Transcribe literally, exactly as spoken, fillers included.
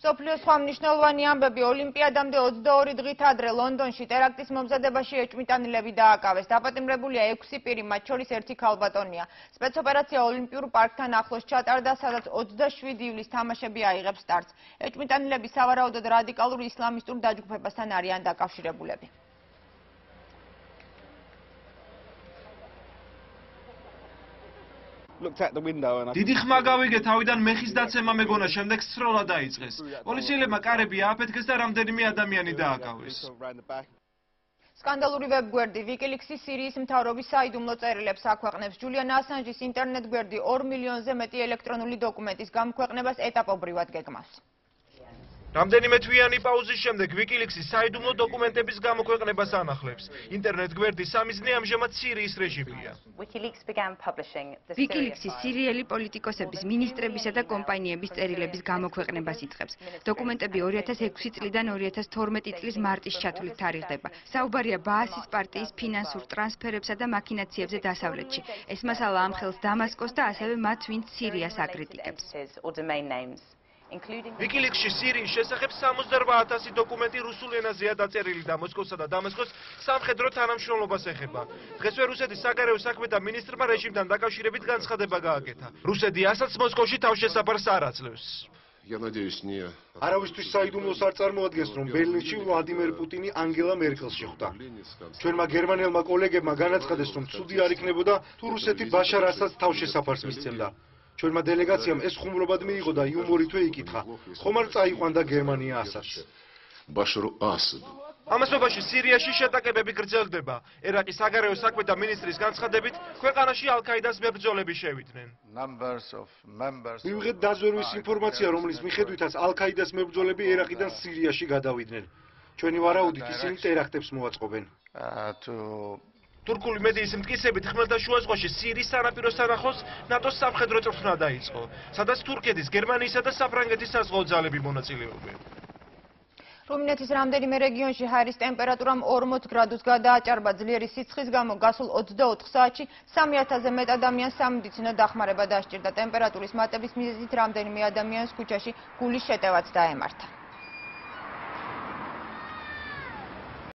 მსოფლიოს სხვა მნიშვნელოვანი ამბები ოლიმპიადამდე ოცდაორი დღით ადრე ლონდონში ტერაქტის მომზადებაში ეჭვმიტანილები დააკავეს. დაპატიმრებულია ექვსი პირი, მათ შორის ერთი ქალბატონია. სპეცოპერაცია ოლიმპიურ პარკთან ახლოს ჩატარდა, სადაც ოცდაშვიდი ივლის თამაშები აიღებს სტარტს. ეჭვმიტანილები სავარაუდოდ რადიკალურ ისლამისტურ დაჯგუფებასთან არიან დაკავშირებულები. დიდი ხმა გავიგე თავიდან მეხის დაცემა მეგონა, შემდეგ სროლა დაიწყეს. პოლიციელებმა კარები ააფეთქეს და რამდენიმე ადამიანი დააკავეს. სკანდალური ვებგვერდი ვიკილიქსის სირიის მთავრობის საიდუმლო წერილებს აქვეყნებს. ჯულიან ასანჯის ინტერნეტ გვერდი ორ მილიონზე მეტი ელექტრონული დოკუმენტის გამქვეყნებას ეტაპობრივად გეგმავს. რამდენიმე თვიანი პაუზის შემდეგ ვიკილიქსის საიდუმლო დოკუმენტების გამოქვეყნებას ანახლებს. ინტერნეტ გვერდი სამიზნე ამჟამად სირიის რეჟიმია. ვიკილიქსის სირიელი პოლიტიკოსების, მინისტრებისა და კომპანიების წერილების გამოქვეყნებას იწყებს. დოკუმენტები ორი ათას ექვსი წლიდან ორი ათას თორმეტი წლის მარტის ჩათვლით თარიღდება. საუბარია ბაასის პარტიის ფინანსურ ტრანსფერებსა და მაქინაციებზე დასავლეთში. ეს მასალა ამხელს დამასკოს და ასევე მათ, ვინც სირიას აკრიტიკებს. ვიკილიქსში სირიის შესახებ სამოცდაორ ათასი დოკუმენტი რუსულ ენაზეა დაწერილი და მოსკოვსა და დამასკოს სამხედრო თანამშრომლობას ეხება. დღესვე რუსეთის საგარეო საქმეთა მინისტრმა რეჟიმთან დაკავშირებით განცხადება გააკეთა. რუსეთი ასაც მოსკოვში თავშესაფარს არ აძლევს. არავისთვის საიდუმლოს არ წარმოადგენს, რომ ბერლინში ვლადიმერ პუტინი ანგელა მერკელს შეხვდა. ჩვენმა გერმანელმა კოლეგებმა განაცხადეს, რომ ცუდი არ იქნებოდა თუ რუსეთი ბაშარ ასადს თავშესაფარს მისცემდა. ჩვენმა დელეგაციამ ეს ხუმრობად მიიღო და იუმორითვე იკითხა, ხომ არ წაიყვანდა გერმანია ასადს. ამასობაში სირიაში შეტაკებები გრძელდება. ერაყის საგარეო საქმეთა მინისტრის განცხადებით, ქვეყანაში ალ-კაიდას მებრძოლები შევიდნენ. მივიღეთ დაზვერვის ინფორმაცია, რომლის მიხედვითაც ალ-კაიდას მებრძოლები ერაყიდან სირიაში გადავიდნენ. ჩვენი ვარაუდით ისინი ტერაქტებს მოაწყობენ. თურქული მედიის მტკიცებით ხმელთაშუა ზღვაში სირიის სანაპიროსთან ახლოს ნატოს სამხედრო წვრთნა დაიწყო, სადაც თურქეთის, გერმანიისა და საფრანგეთის საზღვაო ძალები მონაწილეობენ. რუმინეთის რამდენიმე რეგიონში ჰაერის ტემპერატურამ ორმოც გრადუსს გადააჭარბა. ძლიერი სიცხის გამო გასულ ოცდაოთხ საათში სამი ათასზე მეტ ადამიანს სამედიცინო დახმარება დასჭირდა. ტემპერატურის მატების მიზეზით რამდენიმე ადამიანს ქუჩაში გულის შეტევაც დაემართა.